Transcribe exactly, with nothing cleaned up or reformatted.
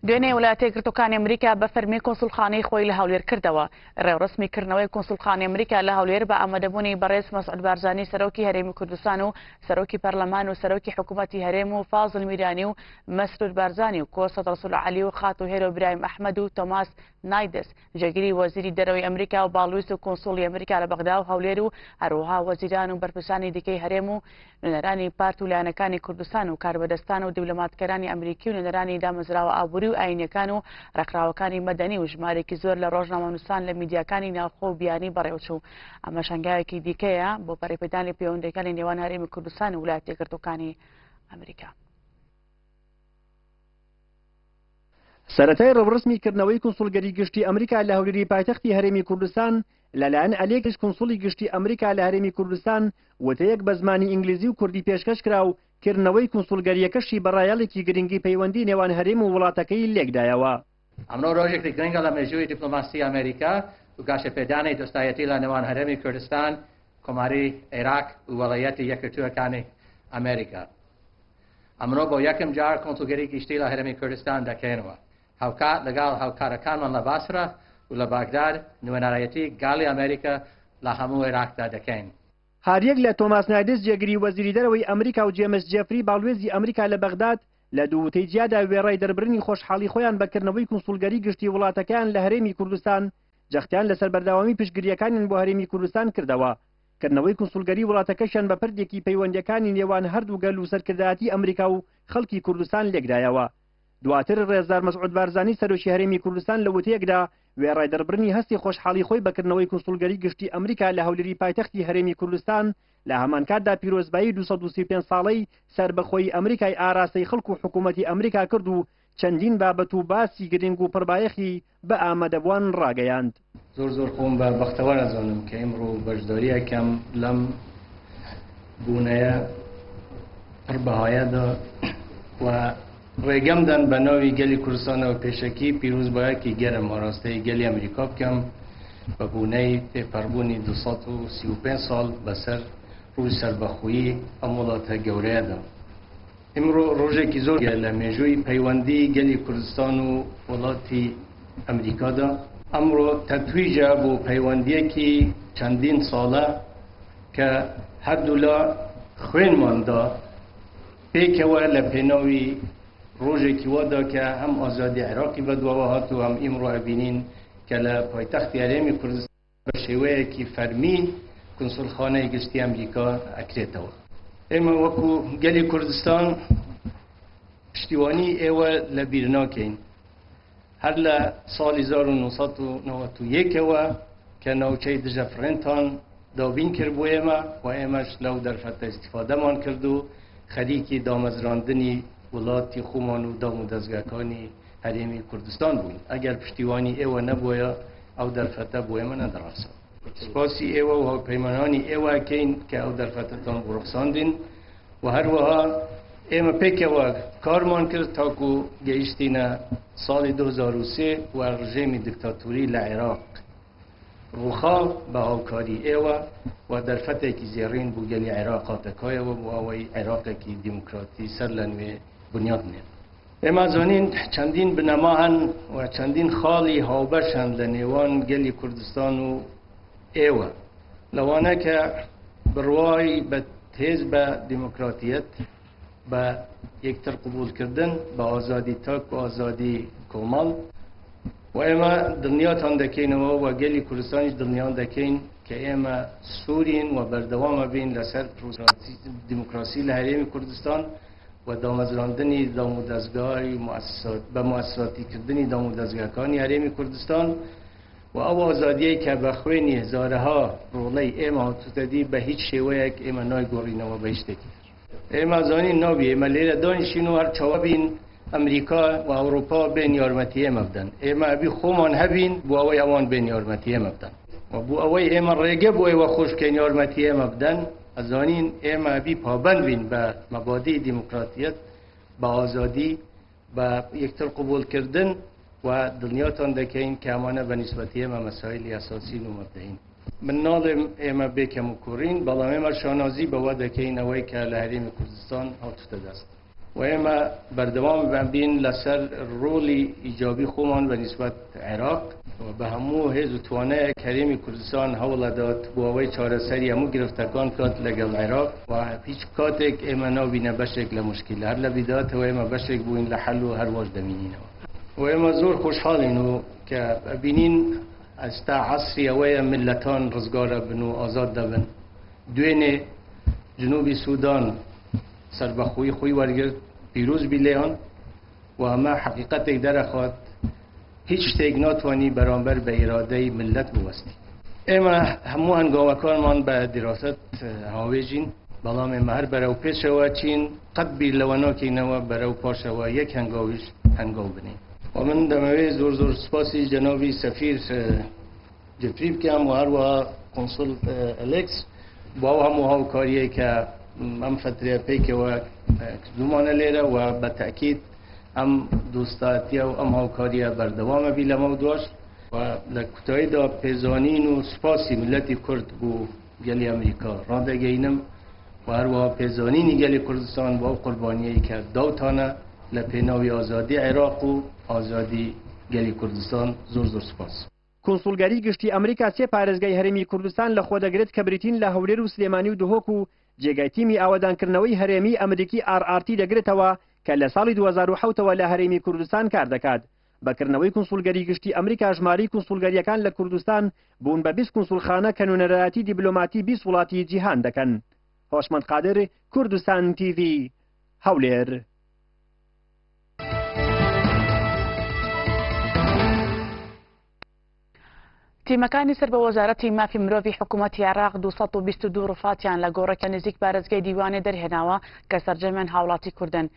دوێنێ وڵاتە یەکگرتووەکانی ئەمریکا بە فەرمی کۆنسوڵخانەی خۆی لە هەولێر کردەوە. ڕێوڕەسمی کردنەوەی کۆنسوڵخانەی ئەمریکا لە هەولێر بە ئامادەبوونی بەڕێز مەسعود بارزانی سەرۆکی هەرێمی کوردستان و سەرۆکی پەرلەمان و سەرۆکی حکوومەتی هەرێم و فازڵ میرانی و مەسرور بارزانی و کۆسرەت ڕەسوڵ عەلی و خاتوو هێرۆ برایم ئەحمەد و تۆماس نایدس جێگیری وەزیری دەرەوەی ئەمریکا و باڵویز و کۆنسوڵی ئەمریکا لە بەغدا و هەولێر و هەروەها وەزیران و بەرپرسانی دیکەی هەرێم و نوێنەرانی پارت و لایەنەکانی کوردستان و کاربەدەستان و دیبلۆماتکارانی ئەمریکی و نوێنەرانی دامەزراوە ئابووری و ئاینیەکان و ڕێکخراوەکانی مەدەنی و ژمارێکی زۆر لە ڕۆژنامەنووسان لە میدیاکانی ناوخۆ و بیانی بەڕێوەچوو. ئەمەش هەنگاوێکی دیکەیە بۆ پەرەپێدانی پەیوەندیەکانی نێوان هەرێمی کوردستان و وڵاتە یەکگرتووەکانی ئەمریکا. سەرەتای ڕێوڕەسمی کردنەوەی کونسوڵگەری گشتی ئەمریکا لە هەولێری پایتەختی هەرێمی کوردستان لەلایەن ئەلێکس کونسوڵی گشتی ئەمریکا لە هەرێمی کوردستان وتەیەک بە زمانی ئینگلیزی و کوردی پێشکەش کرا و کردنەوەی کونسوڵگەریەکەشی بە ڕایەڵێکی گرنگی پەیوەندی نێوان هەرێم و وڵاتەکەی لێکدایەوە. ئەمڕۆ ڕۆژێکی گرنگە لە مێژووی دیپلۆماسی ئەمریکا و گەشەپێدانی دۆستایەتی لە نێوان هەرێمی کوردستان، کۆماری عێراق و وڵایەتی یەکگرتووەکانی ئەمریکا. ئەمڕۆ بۆ یەکەم جار کۆنسوڵگەری گشتی لە هەرێمی کوردستان دەکەینەوە. هاوکات لەگەڵ هاوکارەکانمان لە باسرە و لە بەغداد نوێنەرایەتی گەلی ئەمریکا لە هەموو عێراقدا دەکەین. هاریەک لە تۆماس نایدس جێگری وەزیری دەرەوەی ئەمریکا و جێمس جێفری باڵوێزی ئەمریکا لە بەغداد لە دوو وتەی جیادا وێڕای دەربڕینی خۆشحاڵی خۆیان بەکردنەوەی کونسوڵگەری گشتی وڵاتەکەیان لە هەرێمی کوردستان جەختیان لەسەر بەردەوامی پشتگیریەکانیان بۆ هەرێمی کوردستان کردەوە. کردنەوەی کونسوڵگەری وڵاتەکەشیان بە پردێکی پەیوەندیەکانی نێوان هەردوو گەل و سەرکردایەتی ئەمریکا و خەڵکی کوردستان لێکدایەوە. دواتر ڕێزدار مەسعود بارزانی سەرۆکی هەرێمی کوردستان لە وتەیەکدا وێڕای دەربڕینی هەستی خۆشحاڵی خۆی بەکردنەوەی کونسوڵگەری گشتی ئەمریکا لە هەولێری پایتەختی هەرێمی کوردستان لە هەمانکاتدا پیرۆزبایی دوو سەد و سی و پێنج ساڵەی سەربەخۆیی ئەمریکای ئاراستەی خەڵک و حکوومەتی ئەمریکا کرد و چەندین بابەت و باسی گرنگ و پڕبایەخی بە ئامادەبووان ڕاگەیاند. زۆر زۆر خۆم بە بەختەوەر ئەزانم کە ئیمڕۆ بەشداریەکەم لەم بوونەیە پڕبەهایەدا و ڕێگەم دەن بە ناوی گەلی کوردستانەوە پێشەکی پیرۆزبایەکی گەرم ئاراستەی گەلی ئەمریکا بکەم بە بوونەی تێپەڕبوونی دوو سەد و سی و پێنج ساڵ بەسەر ڕووی سەربەخۆیی ئەم وڵاتە گەورەیەدا. ئیمڕۆ ڕۆژێکی زۆر لە مێژووی پەیوەندی گەلی کوردستان و وڵاتی ئەمریکادا. ئەمڕۆ تەتویجە بۆ پەیوەندیەکی چەندین ساڵە کە هەردوولا خوێنماندا پێکەوە لە پێناوی ڕۆژێکی وادا کە هەم ئازادی عێراقی بەدواوە هات و هەم ئیمڕۆ ئەبینین کە لە پایتەختی هەرێمی کوردستان بە شێوەیەکی فەرمی کونسوڵخانەی گشتی ئەمریکا ئەکرێتەوە. ئێمە وەکو گەلی کوردستان پشتیوانی ئێوە لەبیر ناکەین. هەر لە ساڵی هەزار و نۆ سەد و نەوەد و یەکەوە کە ناوچەی دژە فڕێنتان دابین کرد بۆ ئێمە و ئێمەش لەو دەرفەتە ئیستیفادەمان کرد و خەریکی دامەزراندنی وڵاتی خۆمان و دام و دەزگاکانی هەرێمی کوردستان بووین. ئەگەر پشتیوانی ئێوە نەبووە ئەو دەرفەتە بۆ ئێمە نەدەڕەخسا. سپاسی ئێوە و هاوپەیمانانی ئێوە ئەکەین کە ئەو دەرفەتەتان بۆ ڕەخساندین و هەروەها ئێمە پێکەوە کارمان کرد تاکو گەیشتینە ساڵی دوو هەزار و سێ و ڕژێمی دیکتاتۆری لە عێراق ڕووخا بە هاوکاری ئێوە و دەرفەتێکی زێڕین بوو گەلی عێراق هاتەکایەوە بۆ ئەوەی عێراقێکی دیموکراتی سەر لە نوێ بنیاد بنێن. ئێمە زانین چەندین بنەما هەن و چەندین خاڵی هاوبەش هەن لە نێوان گەلی کوردستان و ئێوە، لەوانە کە بڕوای بە تێز بە دیموکراتیەت، بە یەکتر قبولکردن، بە ئازادی تاک و ئازادی کۆمەڵ. و ئێمە دڵنیاتان دەکەینەوە و گەلی کوردستانیش دڵنیان دەکەین کە ئێمە سوورین و بەردەوامە بین لەسەر دیموکراسی لە هەرێمی کوردستان و دامەزراندنی دام و دەزگای مؤسسات بە مؤسساتیکردنی دام و دەزگاکانی هەرێمی کوردستان و ئەو ئازادیەی کە بە خوێنی هەزارەها ڕۆڵەی ئێمە هاتووتە دی بە هیچ شێوەیەک ئێمە نایگۆڕینەوە بە هیچ شتێکی تر. ئێمە زانین نابی ئێمە لێرە دانیشین و هەر چاوە بین ئەمریکا و ئەوروپا بێن یارمەتی ئێمە بدەن. ئێمە ئەبی خۆمان هەبین بۆ ئەوەی ئەوان بێن یارمەتی ئێمە بدەن و بۆ ئەوەی ئێمە ڕێگە بۆ ئێوە خۆش بکەین یارمەتی ئێمە بدەن. ئەزانین ئێمە ئەبی پابەند بین بە مەبادی دیموکراتیەت، بە ئازادی، بە یەکتر قبولکردن و دڵنیاتان دەکەین کە ئەمانە بە نیسبەتی ئێمە مەسایلی ئەساسین و مەبدەین. من ناڵێم ئێمە بێکەم و کوڕین، بەڵام ئێمە شانازی بەوە دەکەین ئەوەی کە لە هەرێمی کوردستان هاتوتە دەست. و ئێمە بەردەوام بین لەسەر ڕۆڵی ئیجابی خۆمان بە نیسبەت عێراق و بە هەموو هێز و توانایەک هەرێمی کوردستان هەوڵەدات بۆ ئەوەی چارەسەری هەموو گرفتەکان بکات لەگەڵ عێراق و هیچ کاتێک ئێمە نابینە بەشێک لە مشکلە، هەر لە بیداتەوە ئێمە بەشێک بووین لە حەل و هەرواش دەمینینەوە. و ئێمە زۆر خۆشحاڵین و کە ئەبینین ئێستا عەسری ئەوەیە میللەتان ڕزگارە بن و ئازاد دەبن. دوێنێ جنوبی سودان سەربەخۆیی خۆی وەرگرت، پیرۆز بی لێیان و ئەمە حەقیقەتێک دەرەخات هیچ شتێک ناتوانی بەرامبەر بە ئیرادەی ملت بوەستی. ئێمە هەموو هەنگاوەکانمان بە دیراست هاوێژین، بەڵام ئێمە هەر بەرەو پێشەوە چین، قەت بیر لەوە ناکەینەوە بەرەو پاشەوە یەک هەنگاویش هەنگاو بنین. و من دەمەوێت زۆر زۆر سوپاسی جەنابی سەفیر جفری بکەم و هەروەها قونسڵ ئەلێکس بۆ ئەو هەموو هاوکاریەی کە ئەم فترەیە پێکەوە کردومانە لێرە و بە تەئکید ئەم دۆستایەتیە و ئەم هاوکاریە بەردەوامە بی لەمە دواش. و لە کوتاییدا پێزانین و سوپاسی میللەتی کورد بۆ گەلی ئەمریکا ڕادەگەینم و هەروەها پێزانینی گەلی کوردستان بۆ ئەو قوربانیەی کە داوتانە لە پێناوی ئازادی عێراق و ئازادی گەلی کوردستان. زۆر زۆر سوپاس. کونسوڵگەری گشتی ئەمریکا سێ پارێزگای هەرێمی کوردستان لە خۆ دەگرێت کە بریتین لە هەولێر و سلێمانی و دهۆک و جێگای تیمی ئاوەدانکردنەوەی هەرێمی ئەمریکی ئار ئار تی دەگرێتەوە کە لە ساڵی دوو هەزار و حەوت ەوە لە هەرێمی کوردستان کار دەکات. بەکردنەوەی کونسوڵگەری گشتی ئەمریکا ژمارەی کونسوڵگەریەکان لە کوردستان بوون بە بیست کونسوڵخانە کە نوێنەرایەتی دیبلۆماتی بیست وڵاتی جیهان دەکەن. هۆشمەند قادر، کوردستان تیڤی، هەولێر. تیمەکانی سەر بە وەزارەتی مافی مرۆڤی حکوومەتی عێراق دوو سەد و بیست و دوو ڕفاتیان لە گۆڕێکە نزیک پارێزگای دیوانێ دەرهێناوە کە سەرجەمیان هاوڵاتی کوردن.